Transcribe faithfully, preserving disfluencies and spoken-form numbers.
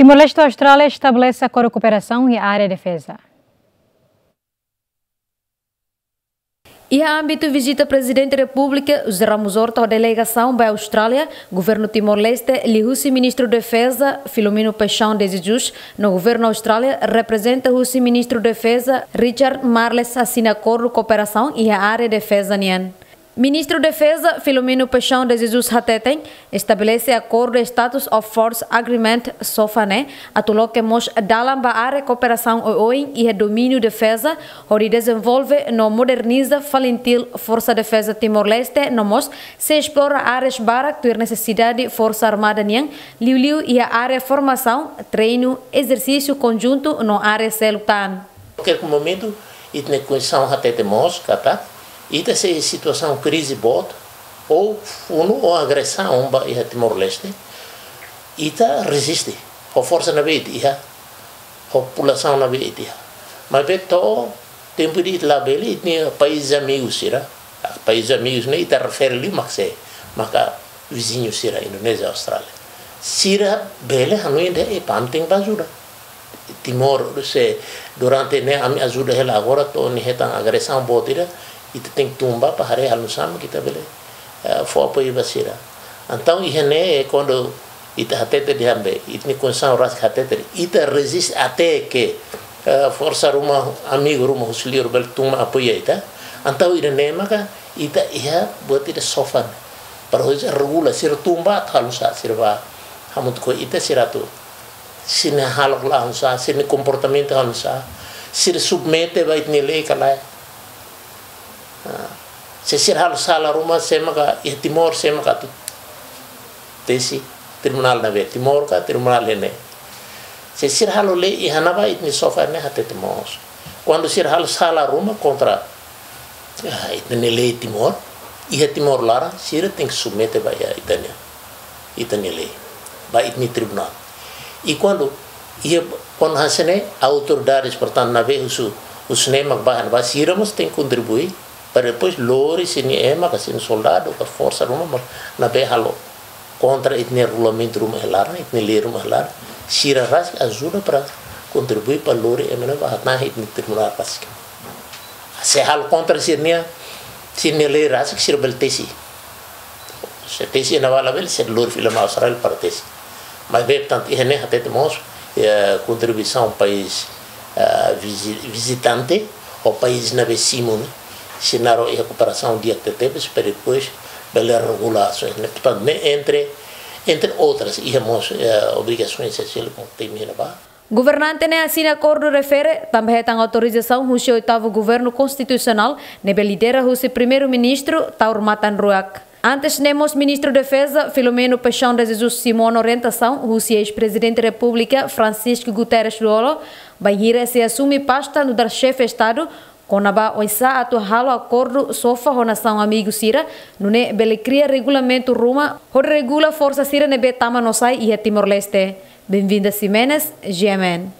Timor-Leste ho Austrália estabelese akordu kooperasaun iha área defeza. Iha ámbitu vizita Prezidente Repúblika José Ramos Horta ho delegasaun ba Austrália, Governu Timor-Leste liuhusi Ministru Defeza Filomeno Paixão de Jesus, no Governu Austrália reprezenta husi Ministru Defeza Richard Marles asina akordu kooperasaun iha área defeza nian. Ministru Defeza Filomeno Paixão de Jesus hateten, estabelese akordu Status of Force Agreement SOFA ne'e atu loke mós dalan ba área kooperasaun oioin iha domíniu defeza, hodi dezenvolve no moderniza FALINTIL, Forsa Defeza Timor-Leste, no mós sei esplora áreas barak tuir nesesidade Forsa Armada nian, liuliu iha área formasaun, treinu, ezersísiu konjuntu no área seluk tan. Kualkér momentu, ita-nia konstituisaun hatete mós katak, ita sei situasaun krize boot, ou funu ou agresaun ba iha Timor-Leste, ita reziste, ho forsa ne'ebé ita iha, ho populasaun ne'ebé ita iha. Maibé to'o tempu ida ita labele, ita-nia país amigu sira, país amigu ne'e ita refere liu mak sé, maka viziñu sira, Indonézia, Austrália. Sira bele hanoin dehan, "Epá, ami tenke bá ajuda." Timor, se durante ne'e ami ajuda hela, agora to'o nia hetan agresaun boot ida, ita tenke tun bá para haree halo nu'usá mak ita bele, eh, fó apoiu ba sira. Entaun, iha ne'e, kuandu ita hatete dehan be, ita-nia konstituisaun rasik hatete, ita reziste até ke, eh, forsa ruma, amigu ruma husi liur bele tun mai apoia ita. Entaun, ida-ne'e maka ita iha buat ida SOFA ne'e. Para hodi regula, sira tun bá atu halo nu'usá, sira bá hamutuk ho ita, sira atu, sira-nia hahalok halo nu'usá, sira-nia komportamentu halo nu'usá, sira submete ba ita-nia lei ka lae. Ah, se sira halo sala ruma, sé maka iha Timor, sé maka atu tesi, tribunál ne'ebé, Timor ka tribunál ne'e. Se sira halo lei iha ne'ebá, ita-nia SOFA ne'e hatete mós. Kuandu sira halo sala ruma kontra, ah, ita-nia lei Timor, iha Timor laran, sira tenke submete ba iha ita-nia, ita-nia lei, ba ita-nia tribunál. I kuandu, iha, kuandu hanesan ne'e, autoridades, portantu, ne'ebé husu, husu ne'e mak bá, ba sira mós tenke kontribui, para depois lori sira-nia ema, ka sira-nia soldadu, ka forsa ruma, mak ne'ebé halo kontra ita-nia regulamentu ruma iha laran, ita-nia lei ruma iha laran, sira rasik ajuda para kontribui para lori ema ne'e ba hatán iha ita-nia tribunál rasik. Se halo kontra sira-nia, sira-nia lei rasik, sira bele tesi. Se tesi ne'ebá labele, sira lori fila mai Austrália para tesi. Maibé, portantu, iha ne'e hatete mós, eh, kontribuisaun país, eh, vizi-, vizitante, ou país ne'ebé simu ne'e, sira na'in-rua iha kooperasaun di'ak tebetebes, para depois bele regula asaun ne'e. Portantu, ne'e entre, entre outras, iha mós, eh, obrigasaun esensiál, komu temi ne'ebá. Governante ne'e asina akordu refere, tanba hetan autorizasaun husi oitavu Governu Konstitusionál, ne'ebé lidera husi Primeiru-Ministru Taur Matan Ruak. Antes ne'e mós Ministru Defeza Filomeno Paixão de Jesus simu ona orientasaun husi eis-Prezidente Repúblika Francisco Guterres Lú-Olo, bainhira sei asume pasta nu'udar Xefe Estadu, kona-ba oinsá atu halo akordu SOFA ho nasaun amigu sira, nune'e bele kria regulamentu ruma hodi regula forsa sira ne'ebé tama no sai iha Timor-Leste. Benvinda Ximenes, G M N.